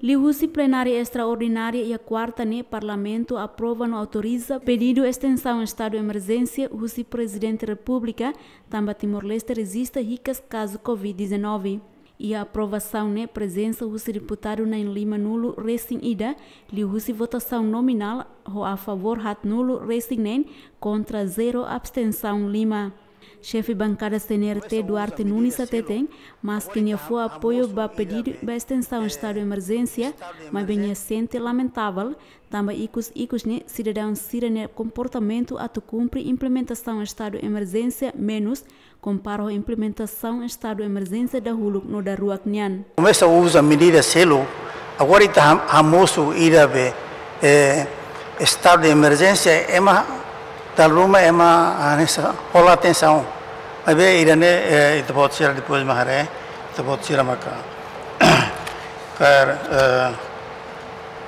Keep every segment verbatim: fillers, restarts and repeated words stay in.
Liuhusi plenária estraordinária iha kuarta ne'e, Parlamentu aprova no autoriza pedidu estensaun estadu emerjénsia husi Prezidente Repúblika, tanba Timor-Leste rejista hikas kazu covid dezanove. Iha aprovasaun ne'e prezensa husi deputadu na'in lima-nulu resin ida, liuhusi votasaun nominál, ho a favór haat-nulu resin neen, kontra zero, abstensaun lima. Xefe bankada C N R T Duarte Nunes hateten, maski nia fó apoiu ba pedidu ba estensaun estadu emerjénsia, maibé nia sente lamentavel, tanba ikus-ikus ne'e sidadaun sira-nia komportamentu atu kumpre implementasaun estadu emerjénsia menus, kompara ho implementasaun estadu emerjénsia dahuluk no daruak nian. Komesa uza medida seluk, agora ita ham-, hamosu ida be, eh, estadu de emerjénsia, ema dala ruma ema, ah, hanesan hola atensaun. Maibé ida-ne'e, eh, ita-boot sira depois mak haree, ita-boot sira maka kaer, eh,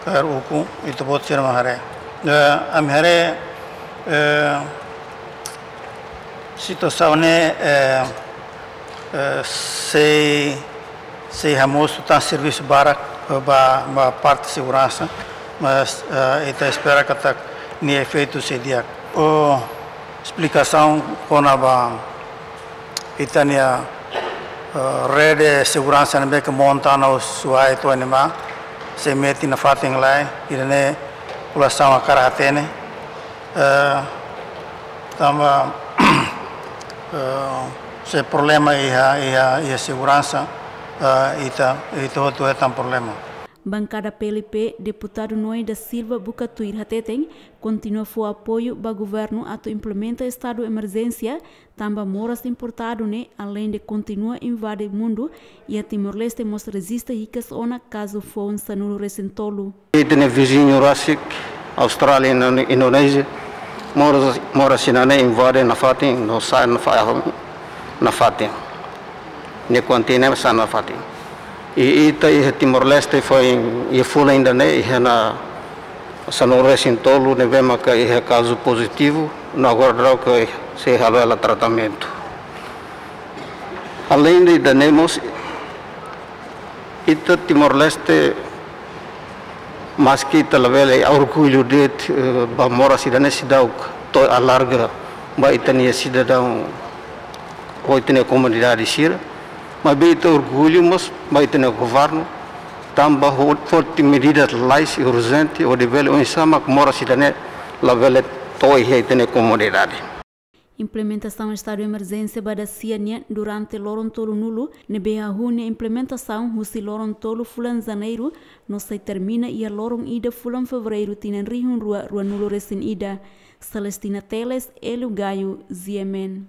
kaer ukun, ita-boot sira mak haree. Eh, ami haree, eh, situasaun ne'e, eh, eh, sei, sei hamosu tan servisu barak, eh, ba, ba parte seguransa, mas, eh, ita espera katak nia efeitu sei di'ak. Ho esplikasaun kona-ba ita-nia, eh, rede seguransa ne'ebé ke monta ona Suai to'o Aimé, sei metin nafatin lai, ida-ne'e populasaun hakarak hatene. Eh, tanba, eh, se problema iha, iha, iha seguransa, eh, ita, ita hotu hetan problema. Bankada P L P, deputadu Noé da Silva buka tuir hateten, kontinua fó apoiu ba governu atu implementa estadu emerjénsia, tanba moras importadu ne'e, aleinde kontinua invade mundu, iha Timor-Leste mós rejista hikas ona kazu foun sanulu resin tolu. Ita-nia viziñu rasik, Austrália, Indo-, Indonézia, moras, moras sira-ne'e invade nafatin, no sa'e nafa-, nafatin. Nia kuantia ne'e sa'e nafatin. I ita iha Timor-Leste foin, iha fulan ida-ne'e, iha ona sanulu resin tolu ne'ebé maka iha kazu pozitivu, no agora daudaun sei halo hela tratamentu. Aleinde ida-ne'e mós, ita Timor-Leste, maski ita labele orgullu de'it, eh, ba moras ida-ne'e seidauk to'o alarga ba ita-nia sidadaun, ho ita-nia komunidade sira, maibé ita orgullu mós ba ita-nia governu, tanba ho-, foti medida lalais i urjente, hodi bele oinsá mak moras ida-ne'e labele to'o iha ita-nia komunidade. Implementasaun estadu emerjénsia ba dasia nian durante loron tolu-nulu, ne'ebé hahú nia implementasaun husi loron tolu fulan Janeiru, no sei termina iha loron ida fulan Fevereiru tinan rihun rua rua-nulu resin ida. Celestina Teles, Hélio Gaio, G M N.